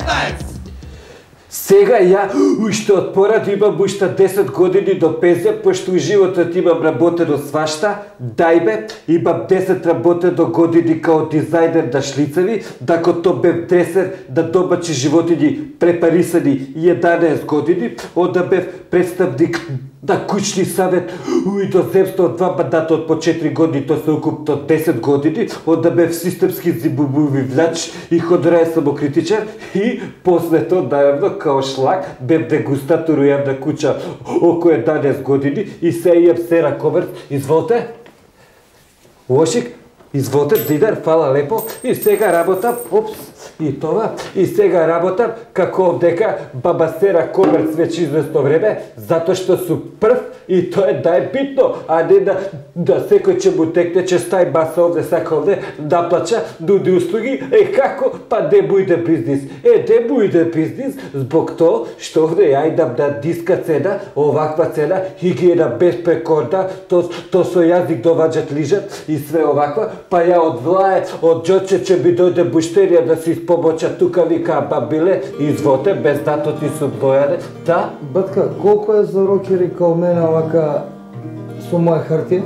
K15! Сега ја уште од порад имам уште 10 години до пензија, пошто у животот имам работено свашта, дајбе, имам 10 работено години као дизајнер на шлицеви, докато бев дресер на домачи животини препарисани 11 години, онда бев представник на кучни savет у иноземство од 2 мандата од по 4 години, тоа се укупно 10 години, онда бев системски зимбувивлач и ходорај самокритичар и после тоа најавно као шлак бев дегустатор у јавна куќа околу 11 години и се јам сера комерц. Изволте. Лошик, изволте, Дидар, фала лепо. И сега работам, и тоа, и сега работам како овдека баба Сера Комерц веќе известно време, затоа што су прв и тоа е најбитно, а не да секој ќе му текне, ќе стаи баса овде, сака овде, наплача, нуди услуги, како? Па не му иде бизнис. Не му иде бизнис, због тоа што овде ја идам на ниска цена, оваква цена, хигиена безпрекорна, то со јазик доваѓат лижат и све оваква, па ја од влае, од џоче ќе ми дојде буштерија да си помоча тука, вика бабиле, извоте, без дато ти су дојаде. Да? Батка, колку е за рокери као мене овака со моја хартија?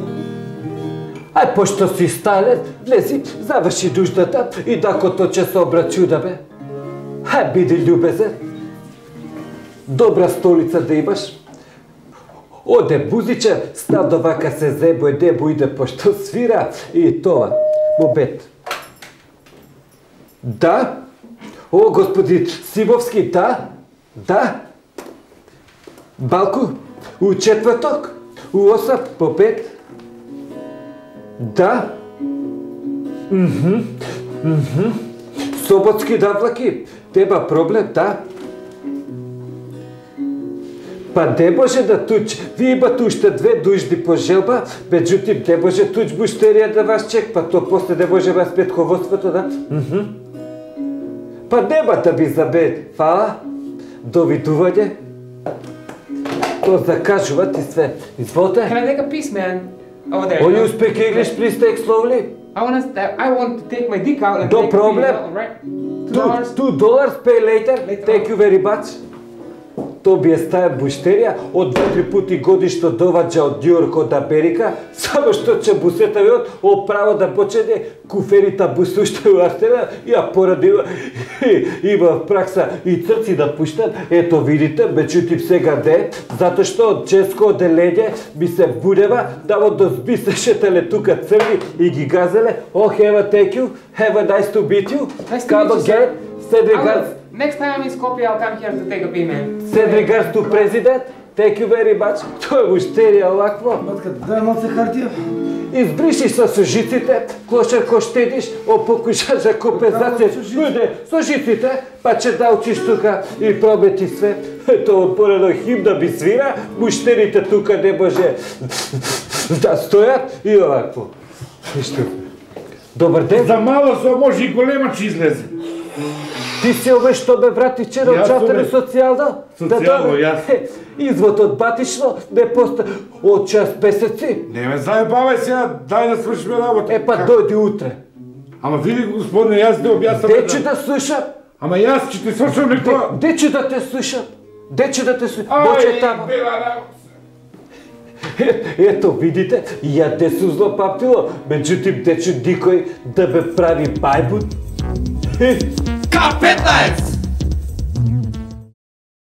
Ај, пошто си сталец, влези, заврши нуждата и докато ќе се обрачудаме. Ај, биди љубезен. Добра столица да имаш. Оде бузиче, снадо вака се зебој, не му иде пошто свира и тоа. Мобет. Да? О, господин Симовски, да? Да? Балку? У четврток? У 8 по 5? Да? Соботски навлаки? Нема проблем, да? Па не може да туч. Вие имате уште 2 нужди по желба, меѓутим не може туч буштерија да вас чек, па то после не може вас петководството, да? Па нема да би забед. Фала. Довидување. То закажуват и све. Изволте. Can I take a piece, man? Over there. Oh, you speak English, please take slowly. I want to take my dick out and No take problem. it, right? $2 pay later. Thank you very much. То би е стаја буштерија од 2-3 пути годишно доваѓа од Њујорк, од Америка, само што ќе бусетавиот оправо да почне куферита бусушта у Астена и ја порадила има пракса и црци да пуштат. Ето видите, меѓутим сега не, затоа што од ческо оделење ми се будева да во дозби се шетале тука црни и ги газеле. Oh, have a thank you, have a nice to meet you. Nice to meet you, again. Send regards. Next time I'm in Skopje, I'll come here to take a pee, man. Send regards to president. Thank you very much. Тоа е буштерија овакво. Батка, дај малце хартија. Избриши со жиците, клошер ко штедиш, покушаш за компензација. Со жиците, па ќе да учиш тука и промети све. Ето отпорено химна би свира, буштерите тука не може да стојат и овакво. Добар ден. За мало со може и голема ќе излезе. Ти си овој што ме врати вчера од чатери социјална? Социјално, јас. Извод од батично не поста од час месеци. Не ме заебавај сега, дај да свршиме работа. Па дојди утре. Ама види господине, јас да објаснам. Де ќе да слушам? Ама јас ќе ти свршам некоја. Де ќе да те слушам? Де ќе да те слушам? Дојде тамо. Ето видите, ја де су злопамтило, меѓутим де ќе никој да ме прави бајбут. K15!